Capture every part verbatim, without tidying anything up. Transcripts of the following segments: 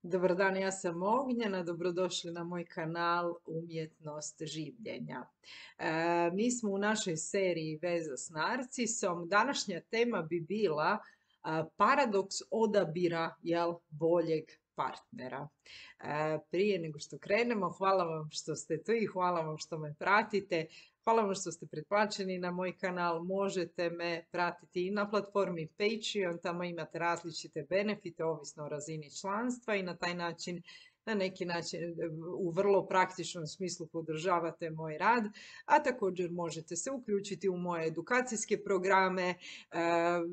Dobar dan, ja sam Ognjena, dobrodošli na moj kanal Umjetnost življenja. E, mi smo u našoj seriji Veza s narcisom. Današnja tema bi bila a, paradoks odabira jel, boljeg partnera. E, prije nego što krenemo, hvala vam što ste tu i hvala vam što me pratite. Hvala vam što ste pretplaćeni na moj kanal. Možete me pratiti i na platformi Patreon, tamo imate različite benefite ovisno o razini članstva i na taj način, na neki način u vrlo praktičnom smislu podržavate moj rad, a također možete se uključiti u moje edukacijske programe, e,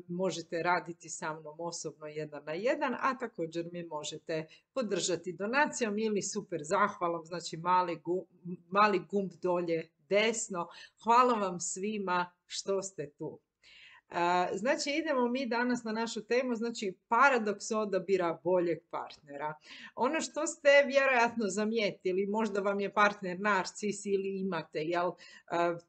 možete raditi sa mnom osobno jedan na jedan, a također mi možete podržati donacijom ili super zahvalom, znači mali, gu, mali gumb dolje desno. Hvala vam svima što ste tu. Znači, idemo mi danas na našu temu, znači paradoks odabira boljeg partnera. Ono što ste vjerojatno zamijetili, možda vam je partner narcis ili imate jel,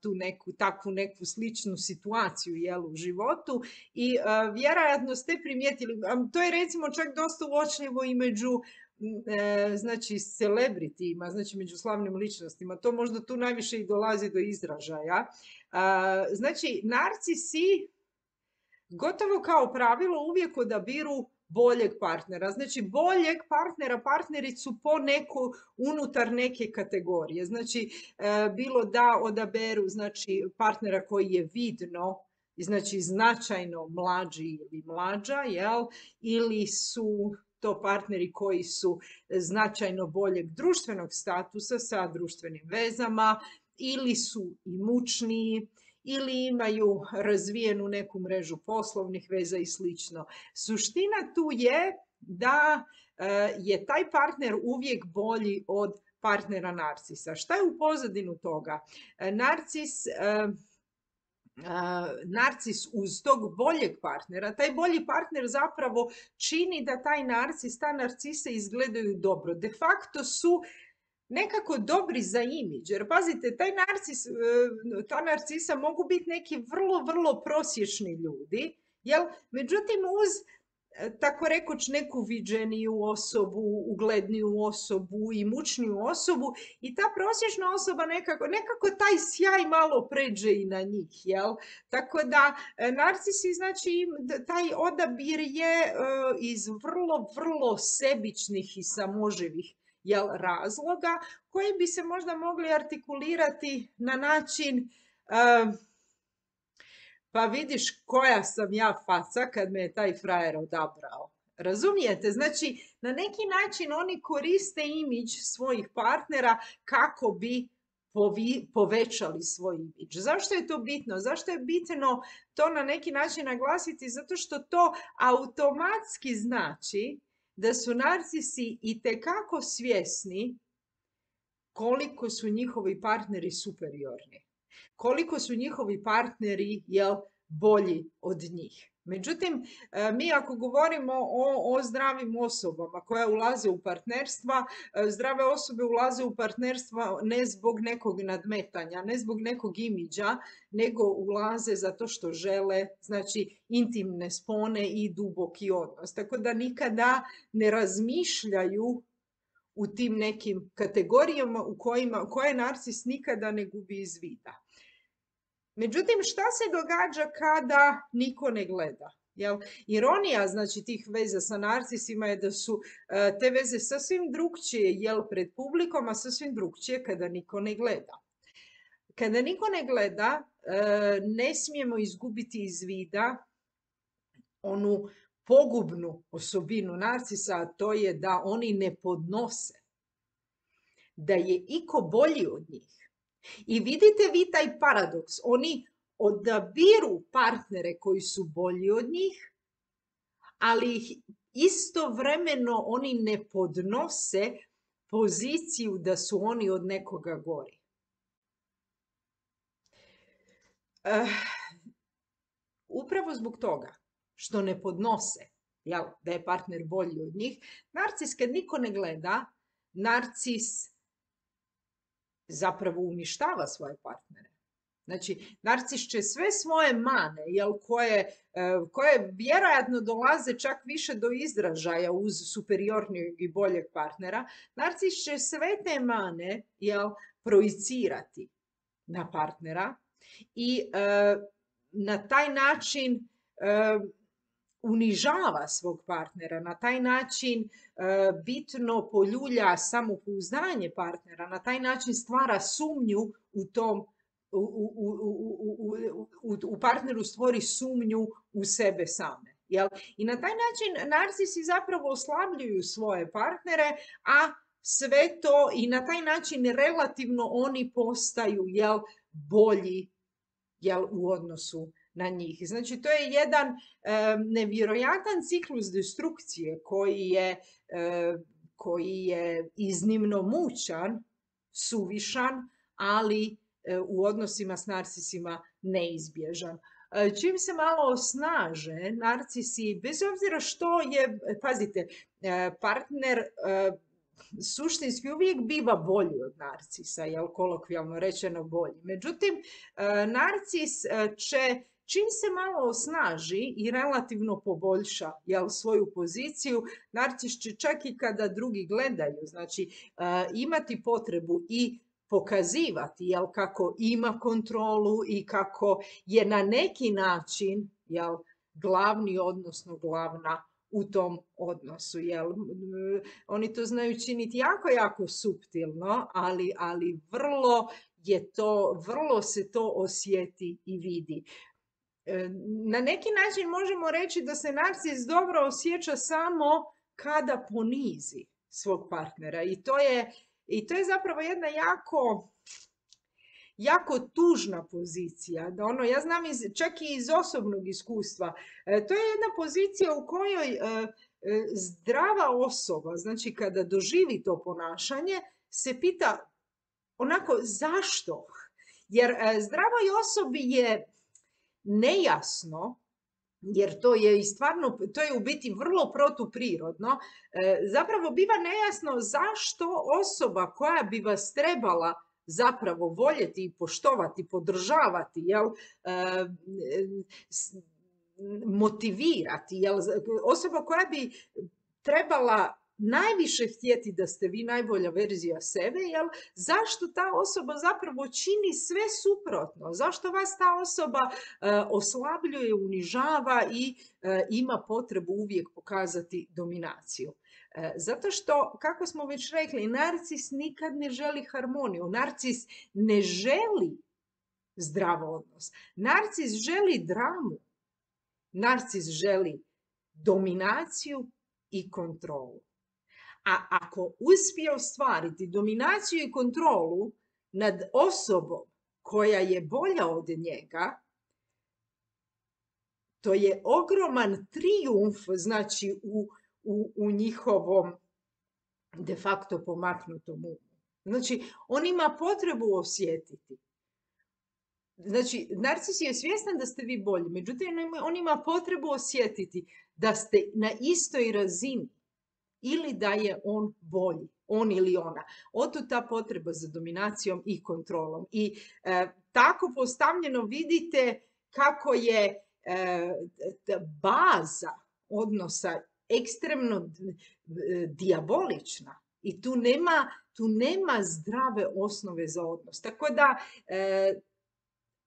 tu neku, takvu neku sličnu situaciju jel, u životu i vjerojatno ste primijetili, to je recimo čak dosta uočljivo i među znači celebritima, znači među slavnim ličnostima, to možda tu najviše i dolazi do izražaja. Znači, narcisi gotovo kao pravilo uvijek odabiru boljeg partnera. Znači boljeg partnera, partnericu po neku, unutar neke kategorije. Znači bilo da odaberu znači, partnera koji je vidno, znači značajno mlađi ili mlađa, jel? Ili su to partneri koji su značajno boljeg društvenog statusa sa društvenim vezama, ili su imućniji, ili imaju razvijenu neku mrežu poslovnih veza i slično. Suština tu je da je taj partner uvijek bolji od partnera narcisa. Šta je u pozadinu toga? Narcis, narcis uz tog boljeg partnera, taj bolji partner zapravo čini da taj narcis, ta narcisa izgledaju dobro. De facto su nekako dobri za imidž, jer pazite, taj narcis, ta narcisa mogu biti neki vrlo, vrlo prosječni ljudi, jel? Međutim, uz tako rekoć neku viđeniju osobu, ugledniju osobu, imućniju osobu i ta prosječna osoba nekako, nekako taj sjaj malo pređe i na njih, jel? Tako da narcisi, znači, taj odabir je iz vrlo, vrlo sebičnih i samoživih jel, razloga koji bi se možda mogli artikulirati na način uh, pa vidiš koja sam ja faca kad me je taj frajer odabrao. Razumijete? Znači, na neki način oni koriste imidž svojih partnera kako bi povi, povećali svoj imidž. Zašto je to bitno? Zašto je bitno to na neki način naglasiti? Zato što to automatski znači da su narcisi itekako svjesni koliko su njihovi partneri superiorni, koliko su njihovi partneri jel, bolji od njih. Međutim, mi ako govorimo o, o zdravim osobama koje ulaze u partnerstva, zdrave osobe ulaze u partnerstva ne zbog nekog nadmetanja, ne zbog nekog imidža, nego ulaze zato što žele, znači, intimne spone i duboki odnos. Tako da nikada ne razmišljaju u tim nekim kategorijama u kojima, koje narcis nikada ne gubi iz vida. Međutim, šta se događa kada niko ne gleda? Jel? Ironija znači, tih veza sa narcisima je da su uh, te veze sasvim drugčije jel, pred publikom, a sasvim drugčije kada niko ne gleda. Kada niko ne gleda, uh, ne smijemo izgubiti iz vida onu pogubnu osobinu narcisa, a to je da oni ne podnose, da je iko bolji od njih. I vidite vi taj paradoks, oni odabiru partnere koji su bolji od njih, ali ih istovremeno oni ne podnose poziciju da su oni od nekoga gori. Uh, upravo zbog toga što ne podnose, jel, da je partner bolji od njih, narcis kad niko ne gleda, narcis zapravo uništava svoje partnere. Znači, narcis će sve svoje mane, jel, koje, koje vjerojatno dolaze čak više do izražaja uz superiornijeg i boljeg partnera, narcis će sve te mane, jel, projicirati na partnera i e, na taj način e, unižava svog partnera, na taj način e, bitno poljulja samopouzdanje partnera, na taj način stvara sumnju u tom, u, u, u, u, u partneru stvori sumnju u sebe same. Jel? I na taj način narcisi zapravo oslabljuju svoje partnere, a sve to i na taj način relativno oni postaju, jel, bolji, jel, u odnosu na njih. Znači, to je jedan e, nevjerojatan ciklus destrukcije koji je, e, koji je iznimno mučan, suvišan, ali e, u odnosima s narcisima neizbježan. E, čim se malo osnaže, narcisi, bez obzira što je, pazite, e, partner e, suštinski uvijek biva bolji od narcisa, jel, kolokvijalno rečeno bolji. Međutim, e, narcis će, čim se malo osnaži i relativno poboljša, jel, svoju poziciju, narcis će čak i kada drugi gledaju, znači uh, imati potrebu i pokazivati, jel, kako ima kontrolu i kako je na neki način, jel, glavni, odnosno glavna u tom odnosu. Jel? Oni to znaju činiti jako, jako suptilno, ali, ali vrlo je to, vrlo se to osjeti i vidi. Na neki način možemo reći da se narcis dobro osjeća samo kada ponizi svog partnera i to je, i to je zapravo jedna jako, jako tužna pozicija. Da ono, ja znam iz, čak i iz osobnog iskustva, to je jedna pozicija u kojoj zdrava osoba, znači kada doživi to ponašanje, se pita onako zašto? Jer zdravoj osobi je nejasno, jer to je i stvarno, to je u biti vrlo protuprirodno, zapravo biva nejasno zašto osoba koja bi vas trebala zapravo voljeti i poštovati, podržavati, jel, motivirati, jel, osoba koja bi trebala najviše htjeti da ste vi najbolja verzija sebe, jel, zašto ta osoba zapravo čini sve suprotno? Zašto vas ta osoba uh, oslabljuje, unižava i uh, ima potrebu uvijek pokazati dominaciju? Uh, zato što, kako smo već rekli, narcis nikad ne želi harmoniju. Narcis ne želi zdrav odnos. Narcis želi dramu. Narcis želi dominaciju i kontrolu. A ako uspije ostvariti dominaciju i kontrolu nad osobom koja je bolja od njega, to je ogroman trijumf, znači u, u, u njihovom de facto pomaknutom umu. Znači, on ima potrebu osjetiti. Znači, narcis je svjestan da ste vi bolji, međutim, on ima potrebu osjetiti da ste na istoj razini ili da je on bolji, on ili ona. Otud ta potreba za dominacijom i kontrolom. I e, tako postavljeno vidite kako je e, baza odnosa ekstremno dijabolična i tu nema, tu nema zdrave osnove za odnos. Tako da e,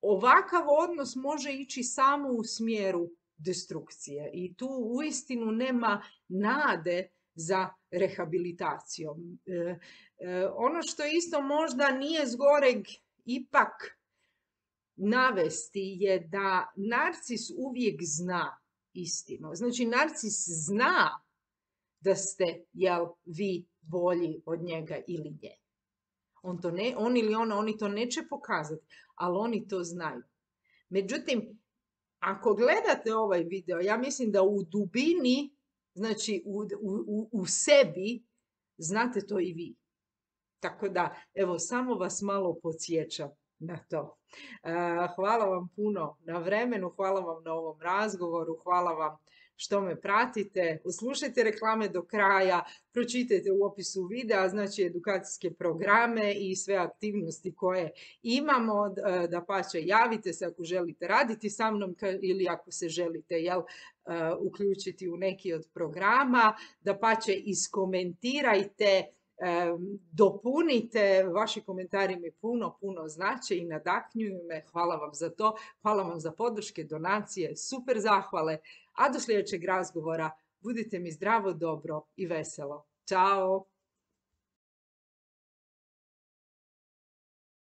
ovakav odnos može ići samo u smjeru destrukcije i tu uistinu nema nade za rehabilitacijom. E, e, ono što isto možda nije zgoreg ipak navesti je da narcis uvijek zna istinu. Znači, narcis zna da ste, jel, vi bolji od njega ili nje. On, to ne, on ili ona, oni to neće pokazati, ali oni to znaju. Međutim, ako gledate ovaj video, ja mislim da u dubini, znači u, u, u sebi, znate to i vi. Tako da, evo, samo vas malo podsjećam na to. Hvala vam puno na vremenu, hvala vam na ovom razgovoru, hvala vam što me pratite. Uslušajte reklame do kraja, pročitajte u opisu videa, znači edukacijske programe i sve aktivnosti koje imamo. Dapače, javite se ako želite raditi sa mnom ili ako se želite jel, uključiti u neki od programa. Dapače, iskomentirajte, dopunite, vaši komentari mi puno, puno znače i nadahnjuju me. Hvala vam za to, hvala vam za podrške, donacije, super zahvale. A do sljedećeg razgovora budite mi zdravo, dobro i veselo. Ćao!